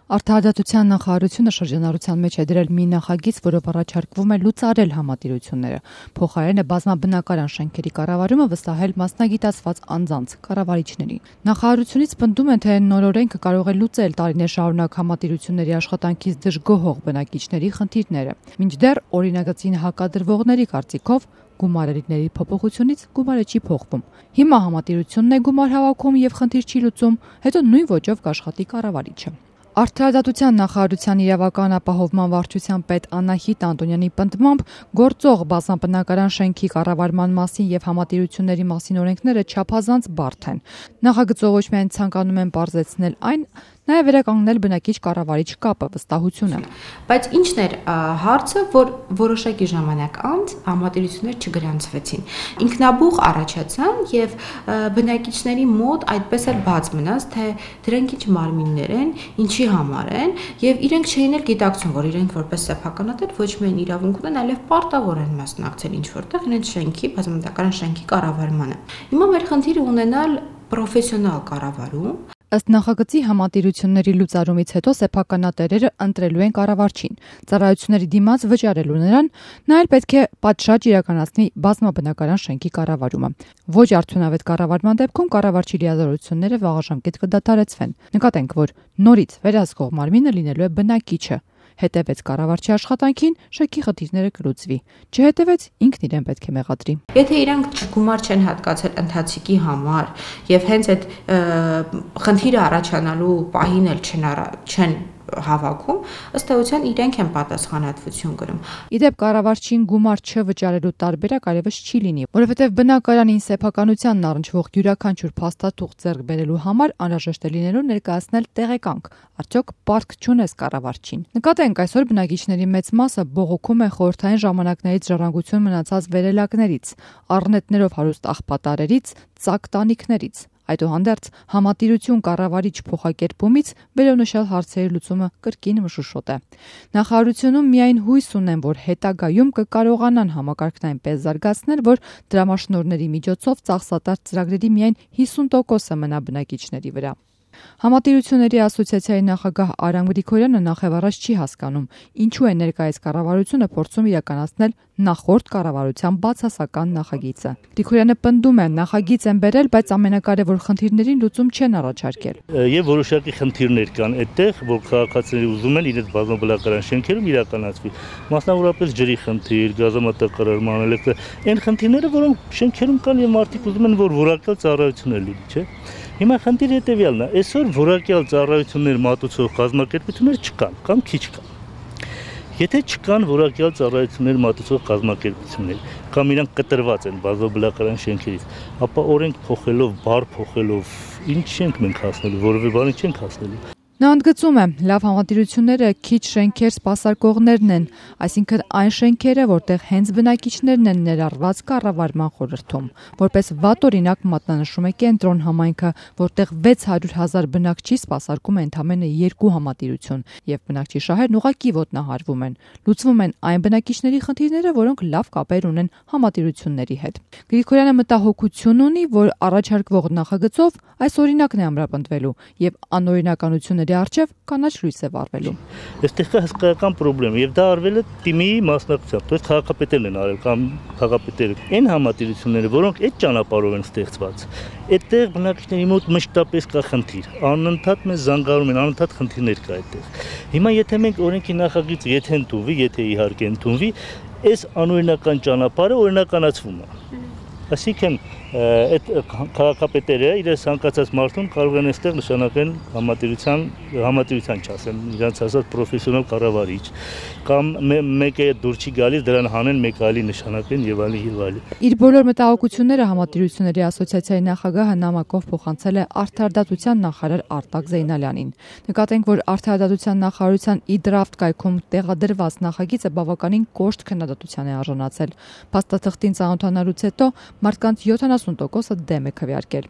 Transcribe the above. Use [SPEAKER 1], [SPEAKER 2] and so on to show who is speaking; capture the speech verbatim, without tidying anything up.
[SPEAKER 1] Արդարադատության նախարարությունը շրջանառության մեջ է դրել մի նախագիծ, որով առաջարկվում է լուծարել համատիրությունները, փոխարենը բազմաբնակարան շենքերի կառավարումը վստահել մասնագիտացված անձանց, կառավարիչներին։ Նախարարությունից պնդում են, թե նոր օրենքը կարող է լուծել տարիներ շարունակ համատիրությունների աշխատանքից դժգոհող բնակիչների խնդիրները։ Մինչդեռ օրինագծին հակադրվողների կարծիքով գումարների փոփոխությունից գումարը չի փոխվում։ Հիմա համատիրությունն է գումար հավաքում եւ խնդիր չի լուծում, հետո նույն ոճով կաշխատի կառավարիչը։ Արդարադատության նախարարության իրավական ապահովման վարչության պետ Անահիտ Անտոնյանի պնդմամբ գործող բազմաբնակարան շենքի կառավարման մասին եւ համատիրությունների մասին օրենքները չափազանց բարդ են։ Նախագծով ոչ միայն ցանկանում են պարզեցնել այն, նաև վերականգնել բնակիչ-կառավարիչ կապը, վստահությունը։
[SPEAKER 2] Բայց ինչն էր հարցը, որ որոշակի ժամանակ անց համատիրություններ չգրանցվեցին։ Ինքնաբուխ առաջացան եւ բնակիչների մոտ այդպես էլ բաց մնաց, թե դրանք ինչ մարմիններ են, ինչի համար են, եւ իրենք չէին էլ գիտակցում, որ իրենք որպես սեփականատեր ոչ միայն իրավունք ունեն, այլև պարտավոր են մասնակցել ինչ որտեղ իրենց շենքի, բազմաբնակարան շենքի կառավարմանը։ Հիմա մեր խնդիրը ունենալ պրոֆեսիոնալ կառավարում։
[SPEAKER 1] Ըստ նախագծի համատիրությունների լուծարումից հետո սեփականատերերը ընտրելու են կառավարչին, ծառայությունների դիմաց վճարելու նրան, նա էլ պետք է պատշաճ իրականացնի բազմաբնակարան շենքի կառավարումը։ Ոչ արդյունավետ կառավարման դեպքում կառավարչի լիազորությունները վաղաժամկետ կդադարեցվեն։ Նկատենք, որ նորից վերահսկող մարմինը լինելու է բնակիչը։ Հետևեց կառավարչի աշխատանքին, շենքի խնդիրները կլուծվի։ Չհետևեց, ինքն իրեն պետք է մեղադրի։
[SPEAKER 2] Եթե իրանք գումար չեն հատկացել ընթացիկի համար եւ հենց այդ խնդիրը առաջանալու պահին էլ չեն չեն հավաքում, ըստ էության իրենք են պատասխանատվություն կրում։
[SPEAKER 1] Իդեպ կառավարչին գումար չվճարելու տարբերակ այլևս չի լինի, որովհետև բնակարանին սեփականությանն առնչվող յուրաքանչյուր փաստաթուղթ ձեռք բերելու համար անհրաժեշտ է լինելու ներկայացնել տեղեկանք, արդյոք պարտք չունես կառավարչին։ Նկատենք, այսօր բնակիչների մեծ մասը բողոքում է խորհրդային ժամանակներից ժառանգություն մնացած վերելակներից, առնետներով հարուստ աղբատարերից, ծակ տանիքներից։ Այդուհանդերձ համատիրություն կառավարիչ փոխակերպումից վերոնշյալ հարցերի լուծումը կրկին մշուշոտ է։ Նախարարությունում միայն հույս ունեն, որ հետագայում կկարողանան համակարգն այնպես զարգացնել, որ դրամաշնորհների միջոցով ծախսատար ծրագրերի միայն հիսուն տոկոսը մնա բնակիչների վրա։ Համատիրությունների ասոցիացիայի նախագահ Արամ Գրիգորյանը նախևառաջ չի հասկանում, ինչու է ներկայիս կառավարությունը փորձում իրականացնել նախորդ կառավարության բացասական նախագիծը։ Գրիգորյանը պնդում է, նախագիծ են բերել, բայց ամենակարևոր խնդիրներին լուծում չեն առաջարկել։
[SPEAKER 3] Եվ որոշակի խնդիրներ կան այդտեղ, որ քաղաքացիները ուզում են իրենց բազմաբնակարան շենքերում իրականացվի։ Մասնավորապես ջրի խնդիր, գազամատակարարման, էլեկտրա, այն խնդիրները, որոնք շենքերում կան եւ մարդիկ ուզում են, որ որակյալ ծառայություններ լինի, չէ՞։ Հիմա խնդիրը հետևյալն է, այսօր որակյալ ծառայություններ մատուցող կազմակերպություններ չկան, կամ քիչ կան։ Եթե չկան որակյալ ծառայություններ մատուցող կազմակերպություններ, կամ իրանք կտրված են բազմաբնակարան շենքերից, ապա օրենք փոխելով, բառ փոխելով, ինչ չենք մենք հասնելու, որևէ բանի չենք հասնելու։
[SPEAKER 1] Նա ընդգծում է, լավ համատիրությունները քիչ շենքեր սպասարկողներն են, այսինքն այն շենքերը, որտեղ հենց բնակիչներն են ներառված կառավարման խորհրդում։ Որպես վատ օրինակ մատնանշում է Կենտրոն համայնքը, որտեղ վեց հարյուր հազար բնակչի սպասարկում է ընդամենը երկու համատիրություն, եւ բնակչի շահերն ուղղակի ոտնահարվում են։ Լուծվում են այն բնակիչների խնդիրները, որոնք լավ կապեր ունեն համատիրությունների հետ։ Գրիգորյանը մտահոգություն ունի, որ առաջարկվող նախագծով այս օրինակն է ամրապնդվելու եւ անօրինականությունների առջև կանաչ լույս է վառվելու։
[SPEAKER 3] Այստեղ կա հսկայական խնդրեմ եւ դա արվել է թիմի մասնակցությամբ, то есть քաղաքապետերն են արել կամ քաղաքապետերը։ Այն համատիրությունները, որոնք այդ ճանապարհով են ստեղծված, այդտեղ բնակիչների մոտ մշտապես կա խնդիր։ Անընդհատ մեզ զանգարում են, անընդհատ խնդիրներ կա այդտեղ։ Հիմա եթե մենք օրենքի նախագիծը եթե ընդունվի, եթե իհարկե ընդունվի, այս անօրինական ճանապարհը օրինականացվում է։ Այսինքն այդ քաղաքապետերը իրենց ցանկացած մարդուն կարող են այստեղ նշանակեն համատիրության համատիրության չասեմ, իրենց ասած պրոֆեսիոնալ կառավարիչ կամ մեկը դուր չի գալիս դրան հանեն մեկ այլի նշանակեն եւ այլն եւ այլն։
[SPEAKER 1] Իր բոլոր մտահոգությունները համատիրությունների ասոցիացիայի նախագահը նամակով փոխանցել է Արդարադատության նախարար Արտակ Զեյնալյանին։ Նկատենք, որ Արդարադատության նախարարության e-draft կայքում տեղադրված նախագիծը բավականին կոշտ քննադատության է արժանացել։ Փաստաթղթին ծանոթանալուց հետո մարդկանց յոթանասուն տոկոսը դեմ է քվեարկել։